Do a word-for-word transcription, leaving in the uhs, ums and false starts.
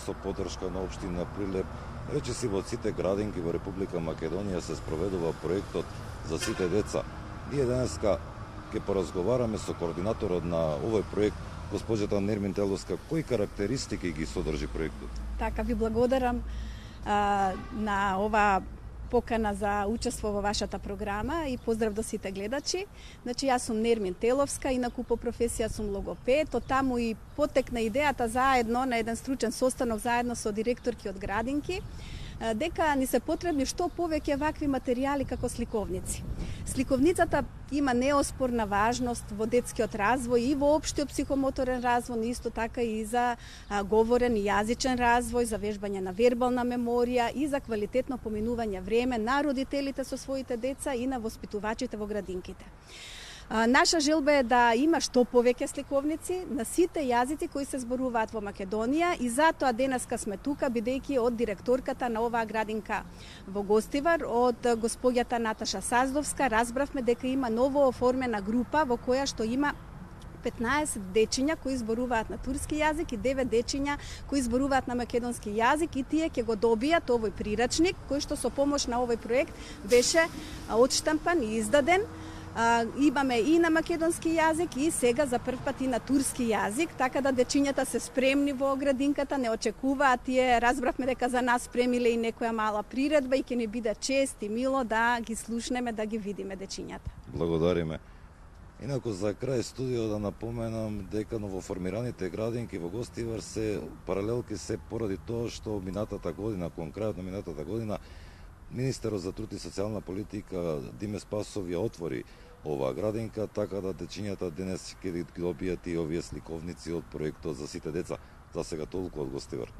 Со поддршка на општина Прилеп, речиси во сите градинки во Република Македонија се спроведува проектот за сите деца. Ние денеска ќе поразговараме со координаторот на овој проект, госпоđата Нермин Теловска. Кои карактеристики ги содржи проектот? Така, ви благодарам а, на ова покана за учество во вашата програма и поздрав до сите гледачи. Значи, јас сум Нермин Теловска, инаку по професија сум логопед. Од таму и потекна идејата заедно на еден стручен состанок заедно со директорки од градинки, дека ни се потребни што повеќе вакви материјали како сликовници. Сликовницата има неоспорна важност во детскиот развој и во општиот психомоторен развој, но исто така и за а, говорен и јазичен развој, за вежбање на вербална меморија и за квалитетно поминување време на родителите со своите деца и на воспитувачите во градинките. Наша желба е да има што повеќе сликовници на сите јазици кои се зборуваат во Македонија и затоа денеска сме тука, бидејќи од директорката на оваа градинка во Гостивар, од господјата Наташа Саздовска, разбравме дека има ново оформена група во која што има петнаесет дечиња кои зборуваат на турски јазик и девет дечиња кои зборуваат на македонски јазик и тие ќе го добијат овој прирачник кој што со помош на овој проект беше одштампан и издаден. А, имаме и на македонски јазик и сега за прв пат и на турски јазик, така да дечињата се спремни во градинката, не очекуваат, тие разбравме дека за нас спремиле и некоја мала приредба и ќе ни биде чест и мило да ги слушнеме, да ги видиме дечињата. Благодариме. Инаку за крај студио да напоменам дека новоформираните градинки во Гостивар се паралелки се поради тоа што минатата година, кон крајот на минатата година, Министерот за труд и социјална политика Диме Спасов ја отвори оваа градинка, така да дечињата денес ќе ги добијат и овие сликовници од проектот за сите деца. За сега толку од Гостивар.